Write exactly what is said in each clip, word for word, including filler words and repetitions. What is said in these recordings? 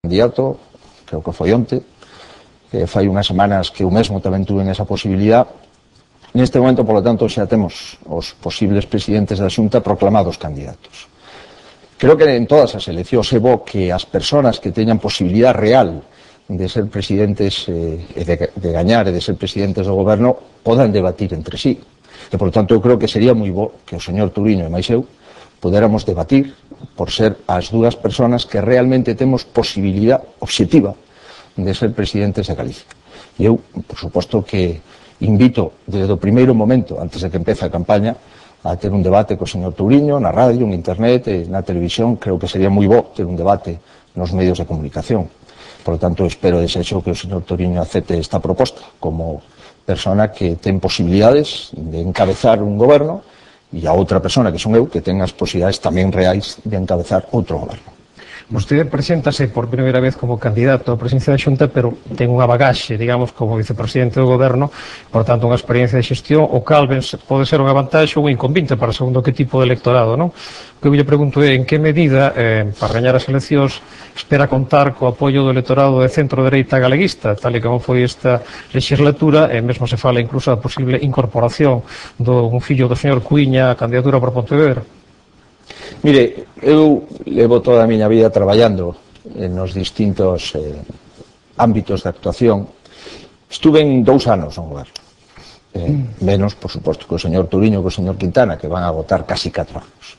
candidato, creo que foi onte, que fai unhas semanas que eu mesmo tamén tuve esa posibilidad. Neste momento, polo tanto, xa temos os posibles presidentes da Xunta proclamados candidatos. Creo que en todas as eleccións é bo que as persoas que teñan posibilidad real de ser presidentes eh, e de, de gañar e de ser presidentes do goberno podan debatir entre sí. E, por tanto, eu creo que sería moi bo que o señor Touriño e máis eu podéramos debatir por ser as dúas persoas que realmente temos posibilidad obxectiva de ser presidentes de Galicia. E eu, por suposto, que invito desde o primeiro momento, antes de que empece a campaña, a ter un debate co señor Touriño na radio, en internet e na televisión. Creo que sería moi bo ter un debate nos medios de comunicación. Por lo tanto, espero e desexo que o señor Touriño acepte esta proposta como persona que ten posibilidades de encabezar un goberno e a outra persona, que son eu, que ten as posibilidades tamén reais de encabezar outro goberno. Vostede preséntase por primeira vez como candidato á presidencia da Xunta, pero ten unha bagaxe, digamos, como vicepresidente do goberno, por tanto, unha experiencia de xestión, o cal ben pode ser unha vantaxe ou un inconvinte para segundo que tipo de electorado, non? O que eu lle pregunto é en que medida, eh, para gañar as eleccións, espera contar co apoio do electorado de centro-dereita galeguista, tal e como foi esta legislatura, e mesmo se fala incluso da posible incorporación do un fillo do señor Cuíña á candidatura por Pontevedra. Mire, eu levo toda a miña vida traballando nos distintos eh, ámbitos de actuación. Estuve en dous anos no goberno. Eh, menos, por suposto, que o señor Touriño e que o señor Quintana, que van a votar casi catro anos.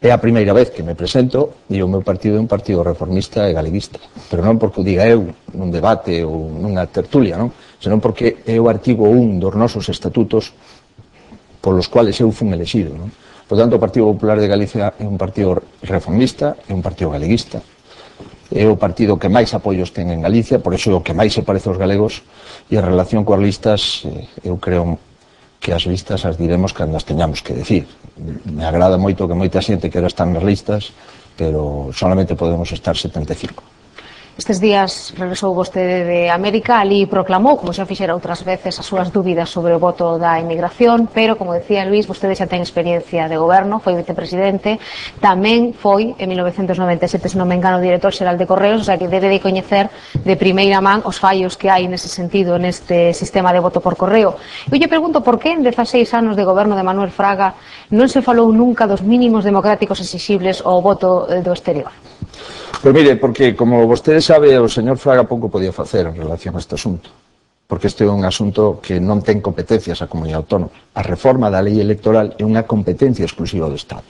É a primeira vez que me presento e o meu partido é un partido reformista e galeguista. Pero non porque o diga eu nun debate ou nunha tertulia, non? Senón porque é o artigo un dos nosos estatutos polos cuales eu fun elexido, non? Por tanto, o Partido Popular de Galicia é un partido reformista, é un partido galeguista, é o partido que máis apoios ten en Galicia, por iso é o que máis se parece aos galegos, e en relación coas listas, eu creo que as listas as diremos cando as teñamos que decir. Me agrada moito que moita xente quera estar nas listas, pero solamente podemos estar setenta e cinco. Estes días regresou vostede de América, ali proclamou, como xa fixera outras veces, as súas dúbidas sobre o voto da inmigración, pero, como decía Luís, vostede xa ten experiencia de goberno, foi vicepresidente, tamén foi, en mil novecentos noventa e sete, se non me engano, director xeral de Correos, o sea que debe de coñecer de primeira man os fallos que hai nese sentido neste sistema de voto por correo. Eu lle pregunto por que en dezaseis anos de goberno de Manuel Fraga non se falou nunca dos mínimos democráticos exixibles ao voto do exterior. Pois mire, porque, como vostede sabe, o señor Fraga pouco podía facer en relación a este asunto, porque este é un asunto que non ten competencias a comunidade autónoma. A reforma da lei electoral é unha competencia exclusiva do Estado.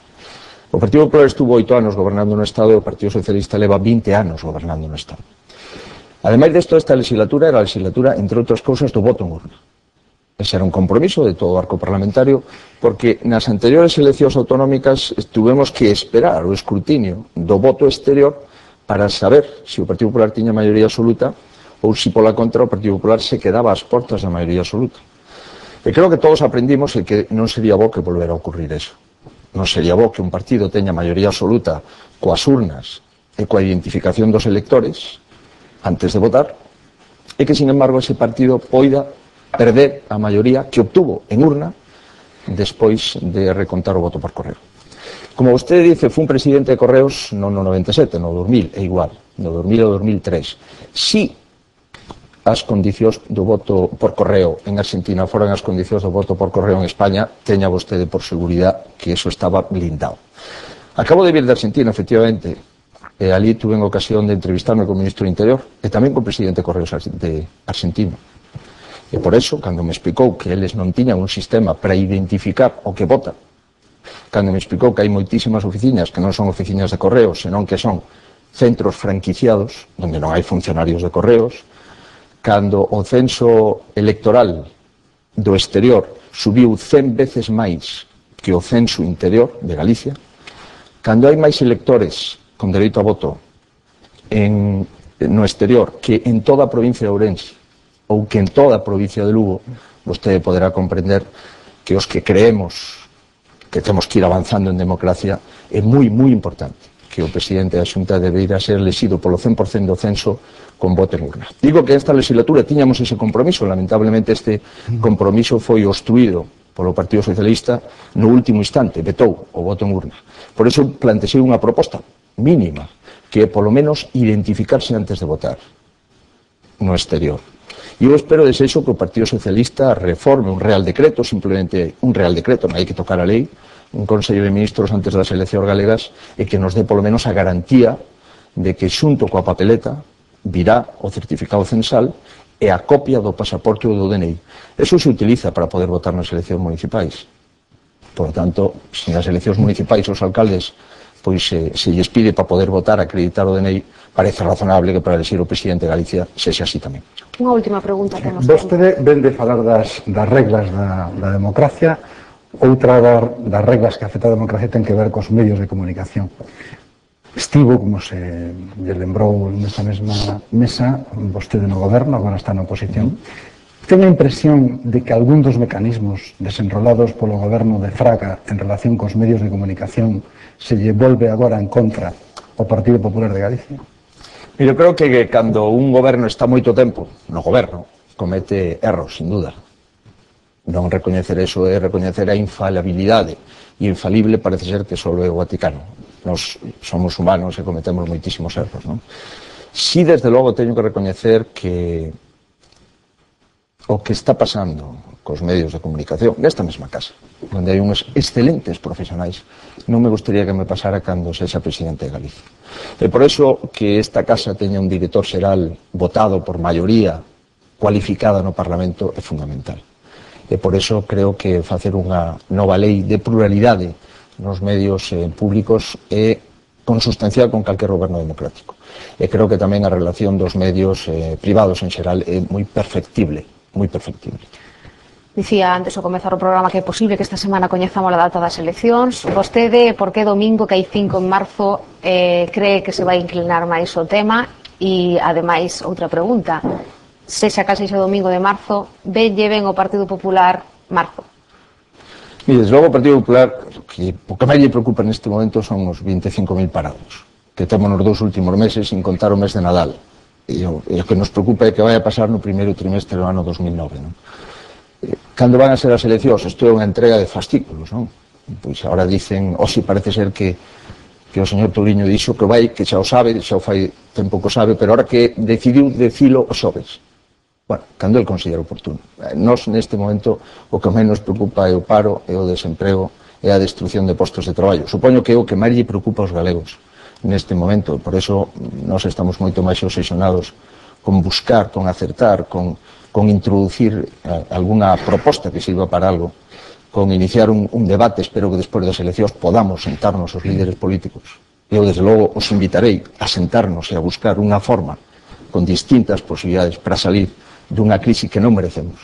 O Partido Popular estuvo oito anos gobernando no Estado e o Partido Socialista leva vinte anos gobernando no Estado. Ademais desto, esta legislatura era a legislatura, entre outras cousas, do voto en urna. Ese era un compromiso de todo o arco parlamentario, porque nas anteriores eleccións autonómicas tuvemos que esperar o escrutinio do voto exterior para saber se o Partido Popular tiña maioría absoluta ou se pola contra o Partido Popular se quedaba ás portas da maioría absoluta. E creo que todos aprendimos que non sería bo que volver a ocurrir eso. Non sería bo que un partido teña maioría absoluta coas urnas e coa identificación dos electores antes de votar e que, sin embargo, ese partido poida perder a maioría que obtuvo en urna despois de recontar o voto por correo. Como vostede dice, fun presidente de Correos non no noventa e sete, no dos mil, é igual, no dos mil e dos mil tres. Si as condicións do voto por correo en Argentina foran as condicións do voto por correo en España, teña vostede por seguridad que eso estaba blindado. Acabo de vir de Argentina, efectivamente, e ali tuve en ocasión de entrevistarme con o ministro do Interior e tamén con o presidente de Correos de Argentina. E por eso, cando me explicou que eles non tiñan un sistema para identificar o que vota, cando me explicou que hai moitísimas oficinas que non son oficinas de correos, senón que son centros franquiciados, onde non hai funcionarios de correos, cando o censo electoral do exterior subiu cen veces máis que o censo interior de Galicia, cando hai máis electores con dereito a voto en, no exterior que en toda a provincia de Ourense ou que en toda a provincia de Lugo, vostede poderá comprender que os que creemos que temos que ir avanzando en democracia, é moi, moi importante que o presidente da Xunta debeira ser elexido polo cen por cento do censo con voto en urna. Digo que esta legislatura tiñamos ese compromiso, lamentablemente este compromiso foi obstruído polo Partido Socialista no último instante, vetou o voto en urna. Por iso plantexei unha proposta mínima, que é polo menos identificarse antes de votar no exterior. E eu espero, desexo, que o Partido Socialista reforme un real decreto, simplemente un real decreto, non hai que tocar a lei, un Consello de Ministros antes das eleccións galegas, e que nos dé polo menos a garantía de que xunto coa papeleta virá o certificado censal e a copia do pasaporte ou do D N I. Eso se utiliza para poder votar nas eleccións municipais. Por tanto, se nas eleccións municipais os alcaldes pois se, se lles pide para poder votar, acreditar o D N I, parece razonable que para elegir o presidente de Galicia sexa así tamén. Unha última pregunta que nos Vostede ven de falar das, das reglas da, da democracia, outra das, das reglas que afecta a democracia ten que ver cos medios de comunicación. Estivo, como se lle lembrou nesta mesma mesa, vostede no goberno, agora está na oposición. Ten a impresión de que algún dos mecanismos desenrolados polo goberno de Fraga en relación cos medios de comunicación se lle volve agora en contra o Partido Popular de Galicia? Eu creo que cando un goberno está moito tempo no goberno, comete erros, sin duda. Non recoñecer eso é recoñecer a infalibilidade, e infalible parece ser que só é o Vaticano. Nos somos humanos e cometemos moitísimos erros, non? Si, desde logo, teño que recoñecer que o que está pasando cos medios de comunicación nesta mesma casa, onde hai uns excelentes profesionais, non me gustaría que me pasara cando sexa presidente de Galicia. E por eso que esta casa teña un director xeral votado por maioría cualificada no Parlamento é fundamental. E por eso creo que facer unha nova lei de pluralidade nos medios eh, públicos é consustancial con calquer goberno democrático. E creo que tamén a relación dos medios eh, privados en xeral é moi perfectible, moi perfectible. Dicía antes ao comezar o programa que é posible que esta semana coñezamos a data das eleccións. Vostede, por que domingo, que hai cinco en marzo, eh, cree que se vai inclinar máis o tema? E, ademais, outra pregunta, sexa cal sexa o domingo de marzo, venlle ben o Partido Popular marzo? E, desde logo, o Partido Popular, que o que máis lle preocupa neste momento son os vinte e cinco mil parados, que temos nos dous últimos meses, sin contar o mes de Nadal. E o, e o que nos preocupa é que vai a pasar no primeiro trimestre do ano dos mil nove, non? Cando van a ser as eleccións? Isto é unha entrega de fascículos, non? Pois agora dicen, o si parece ser que que o señor Touriño dixo que vai, que xa o sabe, xa o fai tempo que o sabe, pero ahora que decidiu decilo o xoves. Bueno, cando el considera oportuno. Nos, neste momento, o que menos preocupa é o paro, é o desemprego, é a destrucción de postos de traballo. Supoño que é o que máis lle preocupa aos galegos neste momento, por eso nós estamos moito máis obsesionados con buscar, con acertar, con, con introducir eh, alguna proposta que sirva para algo, con iniciar un, un debate. Espero que despois das eleccións podamos sentarnos os líderes políticos. Eu, desde logo, os invitarei a sentarnos e a buscar unha forma con distintas posibilidades para salir dunha crise que non merecemos,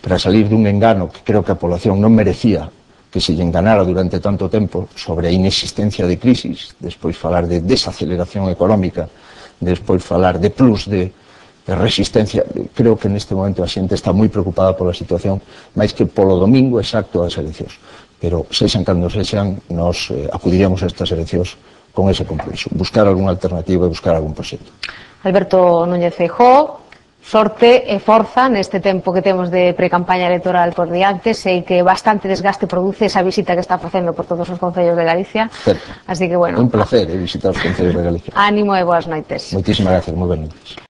para salir dun engano que creo que a población non merecía que se lle enganara durante tanto tempo sobre a inexistencia de crisis, despois falar de desaceleración económica, despois falar de plus de, de resistencia. Creo que neste momento a xente está moi preocupada pola situación, máis que polo domingo exacto das eleccións. Pero sexan cando sexan, nos eh, acudiríamos a estas eleccións con ese compromiso, buscar algunha alternativa e buscar algún proxecto. Alberto Núñez Feijóo, sorte e forza neste tempo que temos de pre-campaña electoral por diante. Sei que bastante desgaste produce esa visita que está facendo por todos os concellos de Galicia. Certo. Así que, bueno, un placer eh, visitar os concellos de Galicia. Ánimo e boas noites. Moitísimas gracias, moi ben noites.